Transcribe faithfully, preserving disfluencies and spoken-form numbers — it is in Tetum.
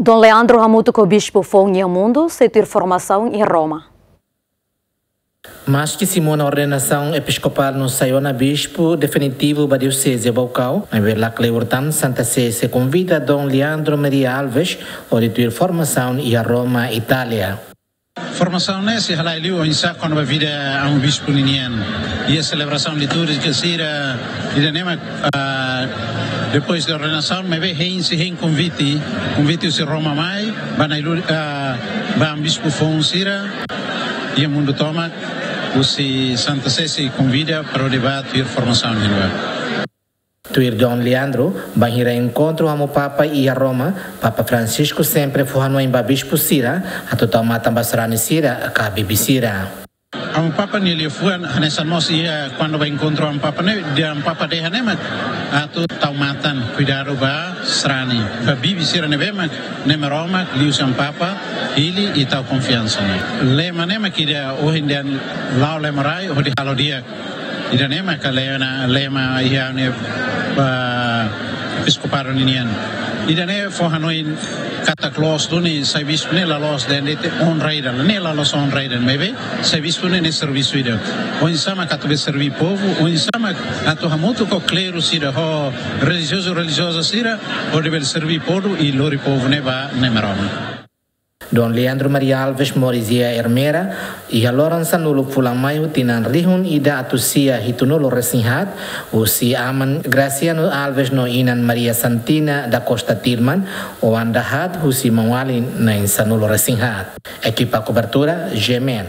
Dom Leandro hamutuk ho bispu foun iha mundu sei tuir formasaun iha Roma. Maski simu ona ordenasaun episkopál no sai ona bispu definitivu ba dioseze Baucau, maibé la kleur tan Santa Sé sei konvida Dom Leandro Maria Alves hodi tuir formasaun iha Roma, Itália. Formasaun ne'e sei halai liu oinsá kona-ba vida amu bispu ninian. Iha selebrasaun litúrjika sira, ida-ne'e mak, ah, depois de ordenasaun, maibé hein sei hein konvite, konvite husi Roma mai, ba nai lu-, ah, ba amu bispu foun sira iha mundu tomak, husi Santa Sé sei konvida para hodi bá tuir formasaun iha ne'ebá. Tuir Dom Leandro, bainhira enkontru hamutuk Papa iha Roma, Papa Francisco sempre fó hanoin ba bispu sira atu tau matan ba sarani sira ka bibi sira. Amu Papa nia liafuan hanesan mós iha kuandu bá enkontru amu Papa ne'e, dehan amu Papa dehan ne'e mak atu tau matan, kuidadu ba sarani, ba bibi sira ne'ebé mak ne'e Roma liuhusi amu Papa hili i tau konfiansa ne'e. Lema ne'e mak ida ohin dehan la'o lema rai hodi halo di'ak. Ida-ne'e maka lema, lema iha ne'e, ah, episkopadu ninian. Ida-ne'e fó hanoin katak loos duni sai bispu ne'e la loos de'it onra ida, ne'e la loos onra ida, maibé sai bispu ne'e, ne'e servisu ida. Oinsá mak atu bele serví povu, oinsá mak atu hamutuk ho kleru sira, ho relijiozu, relijioza sira, hodi bele serví povu i lori povu ne'e ba ne'e Roma. Dom Leandro Maria Alves moris iha Ermera, iha loron sanulu fulan Maiu tinan rihun ida atus sia hitunulu resin haat, husi aman Graciano Alves no inan Maria Santina da Costa Tilman, oan dahaat husi maun-alin na'in sanulu resin haat. Ekipa kobertura, G M N.